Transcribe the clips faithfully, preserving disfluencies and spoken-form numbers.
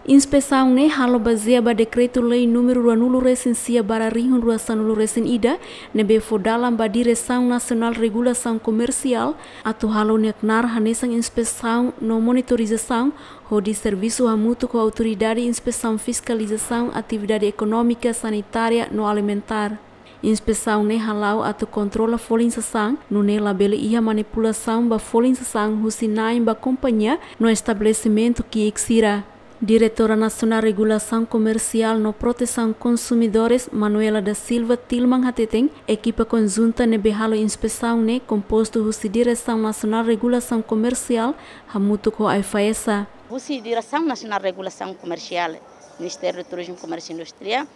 Inspesaun ne'e halo bazeia ba Dekretu-Lei númeru ruanulu resin sia barra rihun rua sanulu resin ida, ne'ebé fó dalan ba Diresaun Nasionál Regulasaun Komersiál atu halo nia knaar hanesan inspesaun no monitorizasaun, hodi servisu hamutuk ho Autoridade Inspesaun Fiskalizasaun Atividade Ekonómika, Sanitária no Alimentár. Inspesaun ne'e hala'o atu kontrola folin sasán, nune'e labele iha manipulasaun ba folin sasán husi na'in ba kompañia no estabelesimentu ki'ik sira. Diretora Nasionál Regulasaun Komersiál no Protesaun Konsumidores, Manuela da Silva Tilman hateten, ekipa konjunta ne'ebé halo inspesaun ne'e kompostu husi Diresaun Nasionál Regulasaun Komersiál hamutuk ho AIFAESA. Husi Diresaun Nasionál Regulasaun Komersiál, Ministériu Turizmu, Komérsiu Indústria,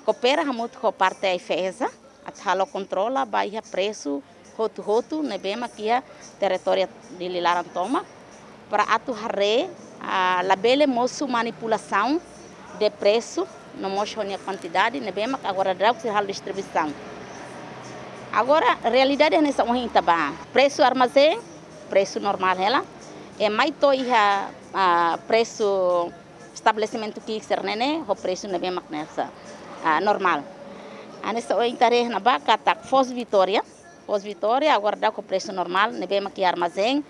koopera hamutuk ho parte AIFAESA atu halo kontrola ba iha presu hotu-hotu ne'ebé mak iha territóriu Dili laran tomak, para atu haree, ah, labele mosu manipulasaun de presu, no mós ho nia kuantidade ne'ebé mak agora daudaun sira halo distribuisaun. Agora, realidade hanesan ohin ita bá. Presu armazén, presu normál hela. I mai to'o iha, ah, presu estabelesimentu ki'ik sira-ne'e ne'e, ho presu ne'ebé mak hanesan, ah, normál. Hanesan ohin ita haree iha ne'ebá katak Foz Vitória, Foz Vitória, agora daudaun ho presu normál, ne'ebé mak iha armazén,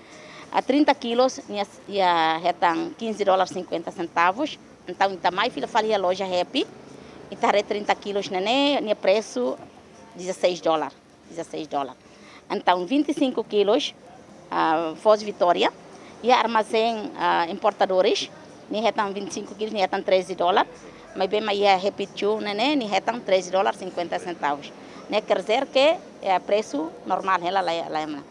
ah, trinta kilos, nia, nia hetan quinze dólares cinquenta centavos. Entaun, ita mai fila fali iha loja Happy, ita haree trinta kilos ne'e ne'e, nia presu dezasseis dólares, dezasseis dólares. Entaun, vinte e cinco kilos, ah, Foz Vitória, iha armazén, ah, Importadores, nia hetan vinte e cinco kilos, nia hetan treze dólares, maibé mai iha Happy Shoe ne'e ne'e, nia hetan treze dólares cinquenta centavos. Ne'e quer dizer que, eh, presu normál hela la, la, la.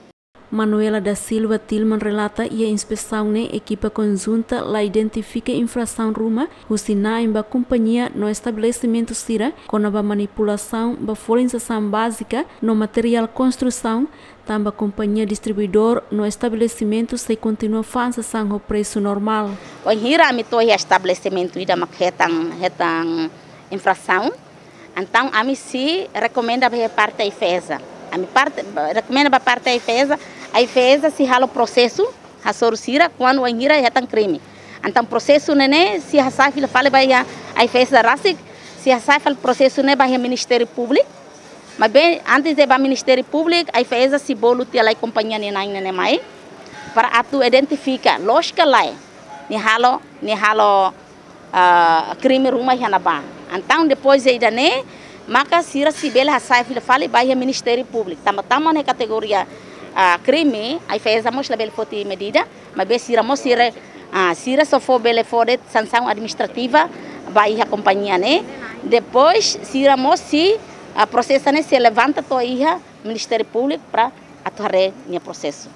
Manuela da Silva Tilman relata, iha inspesaun ne'e ekipa konjunta la identifika infrasaun ruma husi na'in ba kompañia no estabelesimentu sira kona-ba manipulasaun ba folin sasán bázika no materiál konstrusaun, tanba kompañia distribuidór no estabelesimentu sei kontinua fa'an sasán ho presu normál. Wainhira ami to'o iha estabelesimentu ida mak hetan, hetan infrasaun, entaun ami sei rekomenda ba parte AIFAESA. Ami parte, rekomenda ba parte AIFAESA, AIFAESA sei halo prosesu hasoru sira kuandu wainhira hetan krime. Entaun prosesu ne'e ne'e sei hasai fila fali ba iha AIFAESA rasik, sei hasai fali prosesu ne'e ba iha Ministériu Públiku. Maibé antes de bá Ministériu Públiku, AIFAESA sei bolu tiha lai kompañia nia na'in ne'e ne'e mai, para atu identifika loos ka lae nia halo, nia halo, ah, krime ruma iha ne'ebá. Entaun depois de ida-ne'e, maka sira sei bele hasai fila fali ba iha Ministériu Públiku. Tanba tama iha kategoria, ah, krime, AIFAESA mós labele foti medida, maibé sira mós sira, ah, sira só fó bele fó de'it sansaun administrativa ba iha kompañia ne'e. Depois sira mós sei, ah, prosesa ne'e sei levanta to'o iha Ministériu Públiku para atu haree nia prosesu.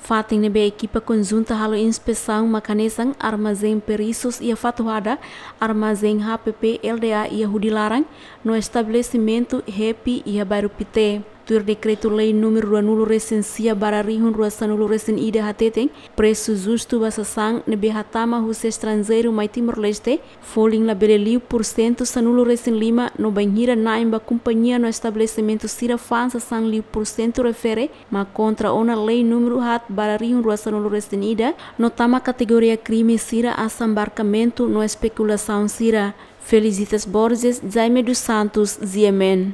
Fatin ne'ebé ekipa konjunta halo inspesaun mak hanesan armazén Perisus iha Fatuhada, armazén HPP LDA iha Hudi Laran, no estabelesimentu Happy iha Bairru Pité. Tuir Dekretu-Lei númeru ruanulu resin sia barra rihun rua sanulu resin ida hateten, presu justu ba sasán ne'ebé hatama husi estranjeiru mai Timor-Leste, folin labele liu pursentu sanulu resin lima, no bainhira na'in ba kompañia no estabelesimentu sira fa'an sasán liu pursentu refere, mak kontra ona Lei númeru haat barra rihun rua sanulu resin ida, no tama kategoria krime sira asambarkamentu no espekulasaun sira. Felicitas Borges, Jaime dos Santos, G M N.